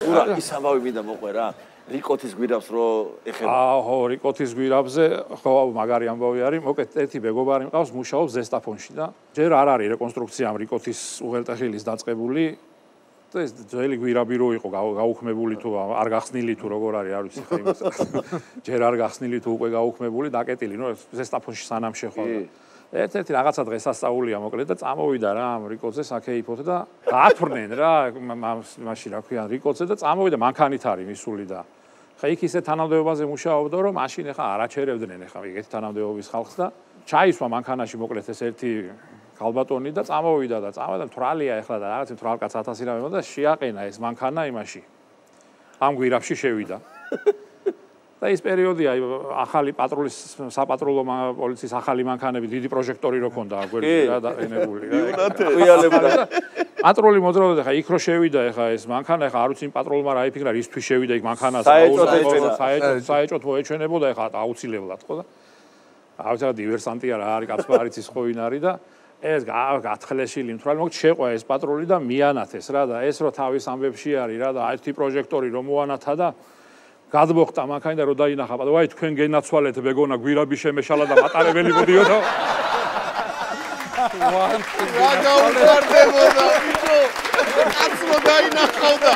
ურა ის ამბავი მინდა მოყვე რა რიკოთის გვირაბს რო ეხება ხო რიკოთის გვირაბზე ხო მაგარი ამბავი არის მოკლედ ერთი მეგობარი მყავს მუშაობს ზესტაფონში და ჯერ არ არის რეკონსტრუქცია ამ რიკოთის უღელტეხილის დაწყებული და ეს ძველი გვირაბი რო იყო გაუქმებული თუ არ გახსნილი თუ როგორ არის არ ვიცი ხა იმას ჯერ არ გახსნილი თუ უკვე გაუქმებული დაკეტილი ნუ ზესტაფონში სანამ შეხვდა ერთ-ერთი რაღაცა დღესასწაულია მოკლედ და წამოვიდა რა ამ რიკოძე საქეიფოთ და გაათვრნენ რა მაშინ რა ქვია რიკოძე და წამოვიდა მანქანით არის მისული და ხა იქ ისე თანამდებობაზე მუშაობდა რომ მაშინ ეხა არაჩერებდნენ ეხა ეგეთი თანამდებობის ხალხს და ჩაისვა მანქანაში მოკლედ ეს ერთი ქალბატონი და წამოვიდა და თვრალია ეხლა და რაღაც თვრალკაც 1000 რამე და შეაყენა ეს მანქანა იმაში ამ გვირაბში შევიდა და ის პერიოდია ახალი პატრულის საპატრულო პოლიციის ახალი მანქანები დიდი პროჟექტორი რო ქონდა გვერდზე რა დაენებული რა ყიალებდა პატრული მოძრაობდა ხა იქ რო შევიდა ეხა ეს მანქანა ეხა არ ვიცი პატრულმა რა იფიქრა რისთვის შევიდა იქ მანქანას საეჭოთ მოეჩვენებოდა ეხა აუცილებლად ხო და აუცილებლად დივერსანტია რა არის კაცმა არ იცის ხო ვინ არის და ეს გათხლეშილი მთვრალი მოკლედ შეყვა ეს პატრული და მიანათეს რა და ეს რო თავის ამბებში არის რა და ერთი პროჟექტორი რომ მოანათა და გადმოხტა მანქანა და რო დაინახა ვაი თქვენ გენაცვალეთ მეგონა გვირაბი შემეშალა და მატარებელი მოდიოდა რა გაუხარდებოდა ბიჭო კაცო დაინახავდა